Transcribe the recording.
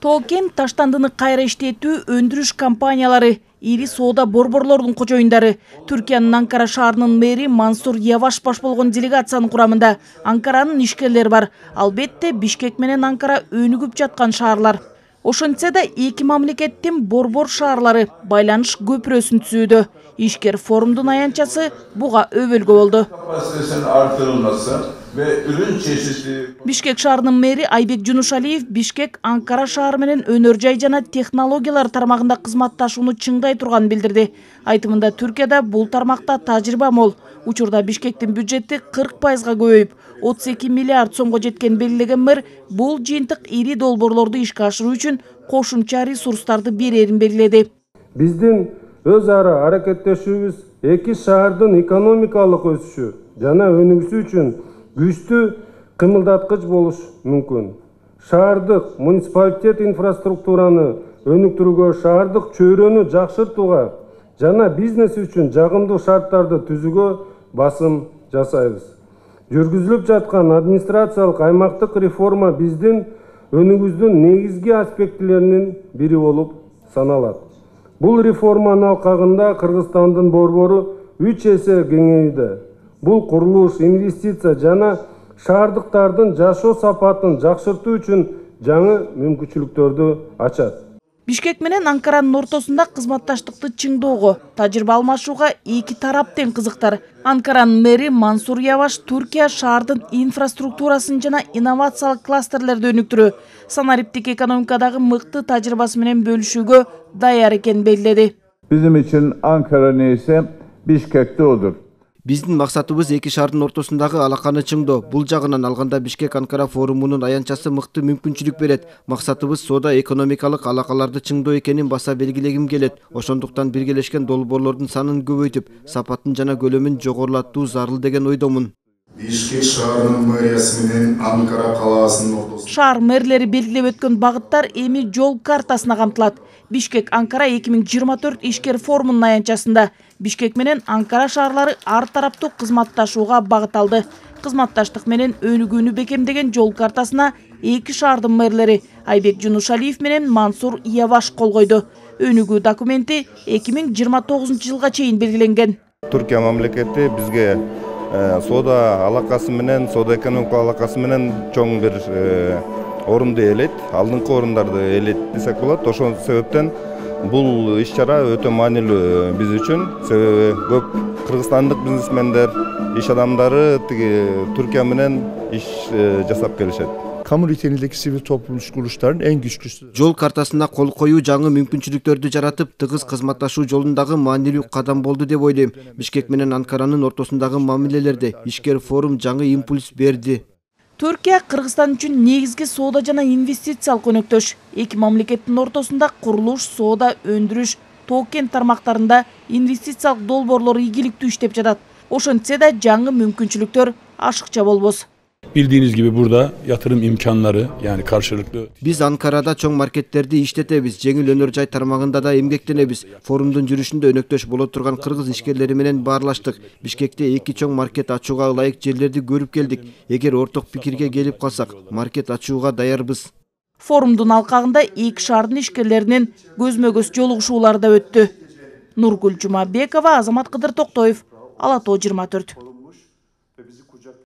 Тоо-кен таштандыны кайра иштетүү өндүрүш компаниялары, ири соода борборлордун кожоюндары, Түркиянын Анкара шаарынын мэри Мансур Яваш баш болгон делегациянын курамында Анкаранын ишкерлери бар. Албетте Бишкек менен Анкара өнүгүп жаткан шаарлар. Ошентсе да эки мамлекеттин борбор шаарлары байланыш көпүрөсүн түзүүдө. Ишкер форумдун аянтчасы буга өбөлгө болду. Бишкек шаарынын мэри Айбек Жунушалиев Бишкек Анкара шаары менен өнөр жай жана технологиялар тармагында кызматташууну чыңдай турганын билдирди. Айтымында Түркияда бул тармакта тажрыйба мол. Учурда Бишкектин бюджети 40%га көбөйүп, 32 миллиард сомго жеткен белгилеген мэр бул жыйынтык ири долбоорлорду ишке ашыруу үчүн кошумча ресурстарды берерин белгиледи. Биздин өз ара аракеттешүүбүз эки шаардын экономикалык өсүшү жана өнүгүүсү үчүн күчтүү кымылдаткыч болуш мүмкүн. Шаардык муниципалитет инфраструктураны өнүктүрүүгө, шаардык чөйрөнү жакшыртууга жана бизнес үчүн жагымдуу шарттарды түзүүгө басым жасайбыз. Жүргүзүлүп жаткан администрациялык аймактык реформа биздин өнүгүүбүздүн негизги аспектилеринин бири болуп саналат. Бул реформанын алкагында Кыргызстандын борбору 3 эсе кеңейди. Бул курулуш, инвестиция жана шаардыктардын жашоо сапатын жакшыртуу үчүн жаңы мүмкүнчүлүктөрдү ачат. Бишкек менен Анкаранын ортосунда кызматташтыкты чыңоого, тажрыйба алмашууга эки тарап тең кызыктар. Анкаранын мэри Мансур Яваш Түркия шаардын инфраструктурасын жана инновациялык кластерлерди өнүктүрүү, санариптик экономикадагы мыкты тажрыйбасы менен бөлүшүүгө даяр экенин белгиледи. Bizim için Ankara neyse Bişkek'te odur. Биздин максатыбыз эки шаардын ортосундагы алаканы чыңдоо. Бул жагынан алганда Бишкек Анкара форумунун аянтчасы мыкты мүмкүнчүлүк берет. Максатыбыз соода экономикалык алакаларды чыңдоо экенин баса белгилегим келет. Ошондуктан биргелешкен долбоорлордун санын көбөйтүп, сапатын жана көлөмүн жогорулатуу зарыл деген ойдомун. Бишкек шаарынын мэриясы менен Анкара калаасынын ортосунда шаар мэрлери белгилеп өткөн багыттар эми жол картасына камтылат. Бишкек Анкара 2024 ишкер форумунун аянтчасында Бишкек менен Анкара шаарлары ар тараптуу кызматташууга багыт алды. Кызматташтык менен өнүгүүнү бекемдеген жол картасына эки шаардын мэрлери Айбек Жунушалиев менен Мансур Яваш кол койду. Өнүгүү документи 2029 жылга чейин белгиленген. Түркия мамлекети бизге соода алакасы менен, соода экономика алакасы менен чоң бир орунду ээлейт, алдыңкы орундарды ээлейт десек болот. Ошол себептен бул иш-чара өтө маанилүү биз үчүн. Себеби көп кыргызстандык бизнесмендер, иш адамдары Түркия менен иш жасап келишет. Kamu niteliğindeki sivil toplum kuruluşların en güçlüsü. Жол картасына кол коюу жаңы мүмкүнчүлүктөрдү жаратып, тыгыз кызматташуу жолундагы маанилүү кадам болду деп ойлойм. Бишкек менен Анкаранын ортосундагы мамилелерде ишкер форум жаңы импульс берди. Түркия Кыргызстан үчүн негизги соода жана инвестициялык өнөктөш. Эки мамлекеттин ортосунда курулуш, соода, өндүрүш, Тоо-кен тармактарында инвестициялык долбоорлор ийгиликтүү иштеп жатат. Ошентсе да жаңы мүмкүнчүлүктөр ашыкча болбос. Bildiğiniz gibi burada yatırım imkanları yani karşılıklı. Biz Ankara'da çoğ marketlerdi işletebиз, жеңил өнөр жай тармагында да эмгектенебиз. Форумдун жүрүшүндө өнөктөш боло турган кыргыз ишкерлери менен баарлаштык. Бишкекте эки чоң маркет ачууга ылайык жерлерди көрүп келдик. Эгер орток пикирге келип калсак, маркет ачууга даярбыз. Форумдун алкагында эки шаардын ишкерлеринин көзмө-көз жолугушуулары да өттү. Нургүл Жумабекова, Азамат Кыдыр Токтоев, Ала Тоо 24.